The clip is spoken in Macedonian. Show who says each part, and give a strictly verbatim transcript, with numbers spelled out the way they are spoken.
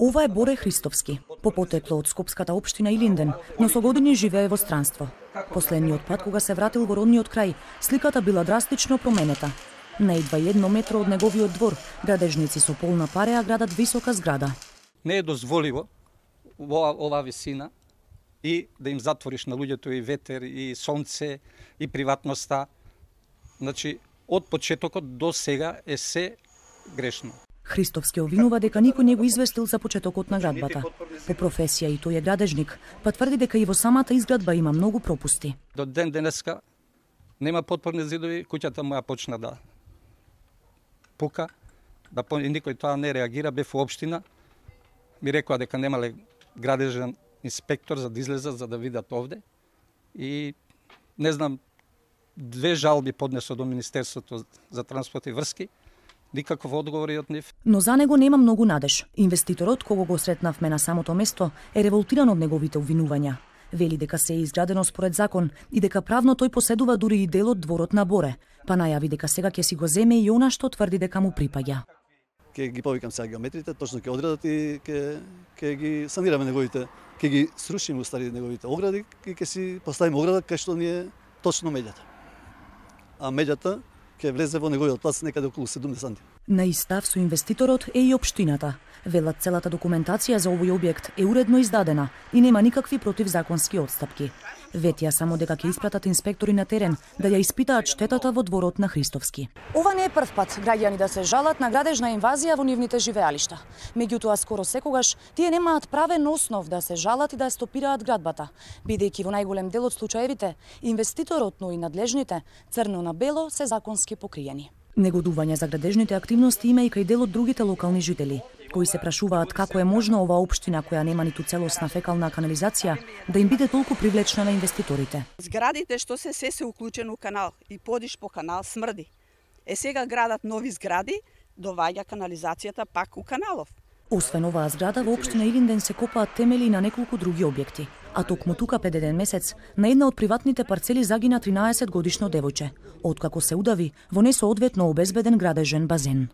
Speaker 1: Ова е Боре Христовски, по потекло од скопската општина Илинден, но со години живее во странство. Последниот пат кога се вратил во родниот крај, сликата била драстично променета. На едва едно метро од неговиот двор, градежници со полна пареа градат висока зграда.
Speaker 2: Не е дозволиво ова, ова висина и да им затвориш на луѓето и ветер, и сонце, и приватноста. Значи, од почетокот до сега е се грешно.
Speaker 1: Христовски обвинува дека никој не го известил за почетокот на градбата. По професија и тој е градежник, па тврди дека и во самата изградба има многу пропусти.
Speaker 2: До ден денеска нема потпорни зидови, куќата моја почна да пука, да и никој тоа не реагира, бев во општина, ми рекоа дека немале градежен инспектор за да излезат за да видат овде и не знам, две жалби поднесо до Министерството за транспорт и врски, никаков одговор од нив.
Speaker 1: Но за него нема многу надеж. Инвеститорот, кого го сретнавме на самото место, е револтиран од неговите обвинувања. Вели дека се е изградено според закон и дека правно тој поседува дури и дел од дворот на Боре, па најави дека сега ќе си го земе и она што тврди дека му припаѓа.
Speaker 3: Ќе ги повикам сега геометрите, точно ќе одредат и ќе ќе ги санираме неговите, ќе ги срушиме устари неговите огради и ќе си поставиме ограда кај што ни е точно меѓата. А меѓата ќе влезе во неговиот плац некаде околу седумдесет сантиметри.
Speaker 1: На истав со инвеститорот е и општината. Велат целата документација за овој објект е уредно издадена и нема никакви противзаконски отстапки. Ветија само дека ќе испратат инспектори на терен да ја испитаат штетата во дворот на Христовски. Ова не е прв пат граѓани да се жалат на градежна инвазија во нивните живеалишта. Меѓутоа скоро секогаш тие немаат правен основ да се жалат и да стопираат градбата, бидејќи во најголем дел од случаевите инвеститорот, но и надлежните црно на бело се законски покриени. Негодување за градежните активности има и кај дел од другите локални жители, кои се прашуваат како е можно ова општина која нема ниту целосна фекална канализација да им биде толку привлечна на инвеститорите.
Speaker 4: Зградите што се се се уклучено у канал и подиш по канал смрди. Е сега градат нови згради, доваѓа канализацијата пак у каналов.
Speaker 1: Освен оваа зграда, во општина Илинден се копаат темели на неколку други објекти. А токму тука пред еден месец, на една од приватните парцели загина тринаесет годишно девојче, откако се удави во несоодветно обезбеден градежен базен.